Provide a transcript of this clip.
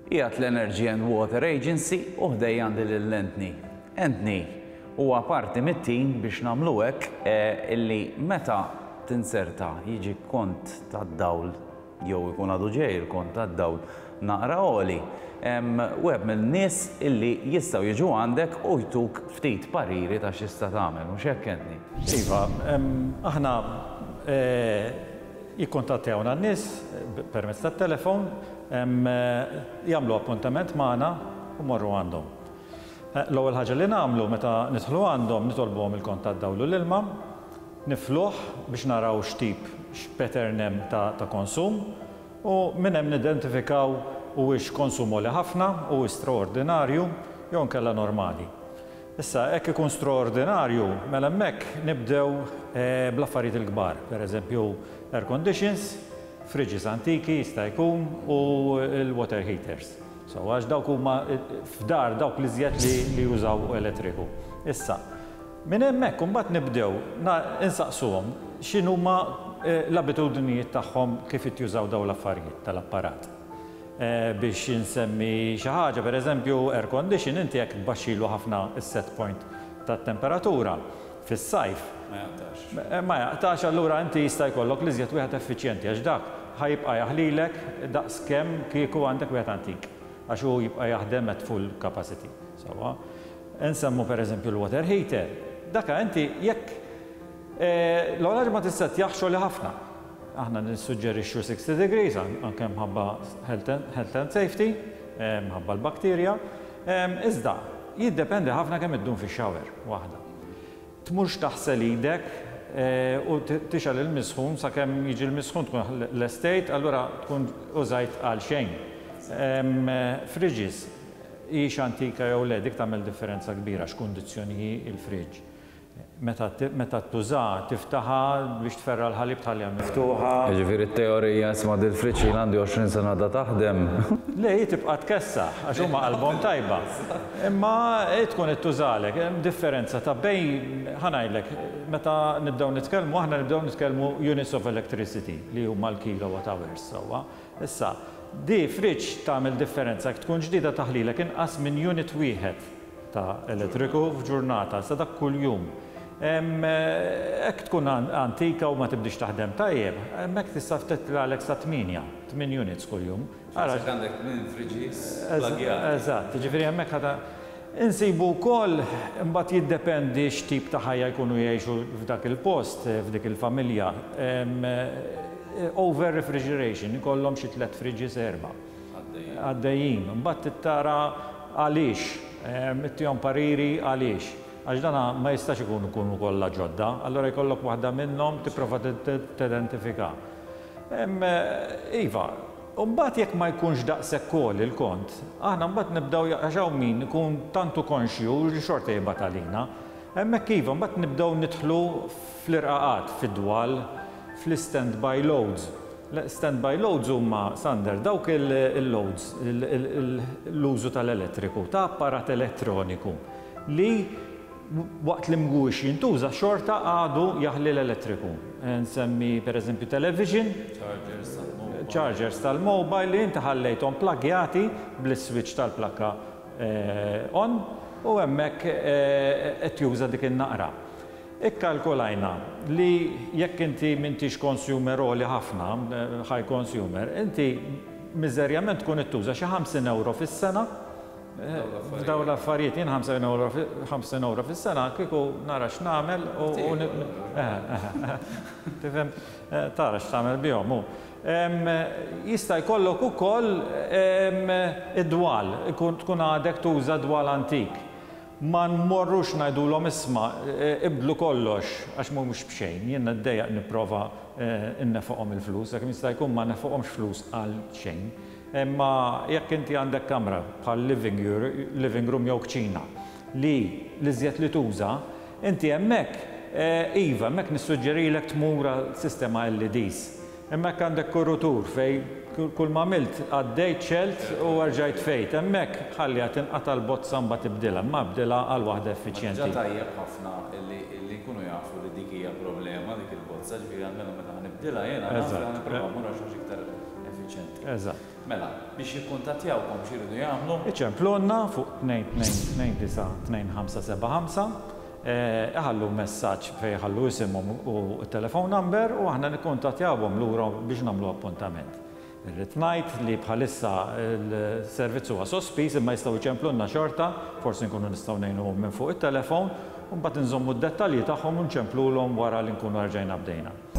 Qiegħed l-Energy and Water Agency u ħdejja għandi lil Anthony. Anthony huwa parti mit-tim biex nagħmlu hekk illi meta tinzerta jiġi kont tad-dawl jew ikun għadu ġej il-kont tad-dawl naqra għoli, wieħed mill-nies illi jistgħu jiġu għandek u jtuk ftit pariri ta' x'tista' tagħmel, mhux hekk Anthony? Iva, aħna Jikkuntattjawna n-nies permezz tat-telefon, jagħmlu appuntament magħna u mmorru għandhom. L-ewwel ħaġa li nagħmlu meta nidħlu għandhom nitolbuhom il-kont tad-dawl u l-ilma, nifluh biex naraw x'tip, x'pattern hemm ta' konsum u minn hemm nidentifikaw huwiex konsum għoli ħafna, huwiex straordinarju jew inkella normali. Issa, hekk ikun straordinarju, mela hemmhekk nibdew bl-affarijiet il-kbar, per eżempju air conditions, fridges antiki jista' jkun u l-water heaters. So, għax dawk huma f'dar dawk l-iżjed li jużaw elettriku. Issa, minn hemmhekk imbagħad nibdew insaqsuhom x'inhuma l-abitudnijiet tagħhom kif jużaw dawn l-affarijiet tal-apparat. Biex insemmi xi ħaġa, per eżempju, air condition, inti jekk tbaxxilu ħafna s-set point tat-temperatura fis-sajf. Ma jaqtax. Ma jaqtax, allura inti jista' jkollok l-iżjed wieħed effiċjenti għax dak ħa jibqa' jaħlilek daqs kemm kieku għandek wieħed antik għax hu jibqa' jaħdem at full capacity. Sewwa. Insemmu per eżempju l-water heater. Daka inti jekk l-ewwel ħaġa ma tissettjahx għoli ħafna. Aħna nissuġġerixxu 60 degrees anke mħabba health and safety, mħabba l-bakterja. Iżda, jiddependi ħafna kemm iddum fix-shower waħda. Tmurx taħsel idek u tixgħel il-misħun sakemm jiġi l-misħun tkun lestejt, allura tkun użajt għal xejn. Fridges, hix antika jew le, dik tagħmel differenza kbira x'kundizzjoni hi l-fridge. Meta meta tużaha, tiftaħha biex tferra' l-ħalib tħalliha miftuħa. Jiġifieri t-teorija isma' dil-friġġ ilha għandi 20 sena għadha taħdem. Le, hi tibqa' tkessaħ għax huma qalbhom tajba. Imma hi tkun qed tużalek. Hemm differenza ta' bejn, ħa ngħidlek, meta nibdew nitkellmu aħna nibdew nitkellmu units of electricity li huma l-kilowatt hours sewwa. Issa, di friġġ tagħmel differenza jekk tkun ġdida taħlilek inqas minn unit wieħed. ta' elettriku f'ġurnata, sa dak kuljum. Hekk tkun antika u ma tibdiex taħdem tajjeb, hemmhekk tista' titlagħlek sa tmienja, tmien units kuljum. Ara. Jekk għandek tmien fridges pplaggjati. Eżatt, jiġifieri hemmhekk ħa Insibu wkoll, imbagħad jiddependi x'tip ta' ħajja jkunu jgħixu f'dak il-post, f'dik il-familja, over refrigeration, ikollhom xi tliet fridges erba'. Għaddejjin. Imbagħad trid tara għaliex, ittihom pariri għaliex. Għax dan ma jistax ikun ikunu kollha ġodda, allura jkollok waħda minnhom tipprova tidentifika. Iva, u mbagħad jekk ma jkunx daqshekk għoli l-kont, aħna mbagħad nibdew għax hawn min ikun tant hu konxju li xorta jibgħat għalina. Hemmhekk iva, mbagħad nibdew nidħlu fl-irqaqat, fid-dwal, fl-istandby loads. Standby loads huma, Sander, dawk il-loads, l-użu tal-elettriku, ta' apparat elettroniku li waqt li mhuwiex jintuża xorta għadu jaħli l-elettriku. Nsemmi pereżempju television, chargers tal-mobile li inti ħallejthom plaggjati bl-iswitch tal-plakka on u hemmhekk qed juża dik in-naqra. Ikkalkulajna li jekk inti m'intix consumer għoli ħafna, high consumer, inti miżerjament tkun qed tuża xi 50 ewro fis-sena f'dawn l-affarijiet. Jien 50 ewro 50 ewro fis-sena kieku nara x'nagħmel u tifhem tara x'tagħmel bihom hu. Jista' jkollok ukoll id-dwal, tkun għadek tuża dwal antik. Ma nmorrux ngħidulhom isma' ibdlu kollox għax mhumiex b'xejn. Jien niddejjaq nipprova nnefoqhom il-flus, kemm jista' jkun ma nnefoqhomx flus għal xejn. Imma jekk inti għandek kamra bħal living living room jew kċina li l-iżjed li tuża, inti hemmhekk iva, hemmhekk nissuġġerilek tmur għal sistema LEDs. Hemmhekk għandek kurutur fejn kull ma għamilt għaddejt xgħelt u erġajt tfejt. Hemmhekk ħalliha tinqata' l-bozza mbagħad ibdilha, imma ibdilha għal waħda effiċjenti. Imma diġà tajjeb ħafna illi illi jkunu jafu li dik hija problema dik il-bozza, ġifieri almenu meta ħa nibdilha jiena naf li ħa nipprova mmur għal xi ħaġa iktar effiċjenti. Eżatt. Mela, biex jikkuntattjawkom x'iridu jagħmlu? Iċemplulna fuq 2229 2575, iħallu messaġġ fejn iħallu isimhom u t-telephone number u aħna nikkuntattjawhom lura biex nagħmlu appuntament. Irrid ngħid li bħalissa l-servizz huwa sospiż imma jistgħu jċemplulna xorta, forsi nkunu nistgħu ngħinuhom minn fuq it-telefon u mbagħad inżommu d-dettalji tagħhom u nċemplulhom wara li nkunu erġajna bdejna.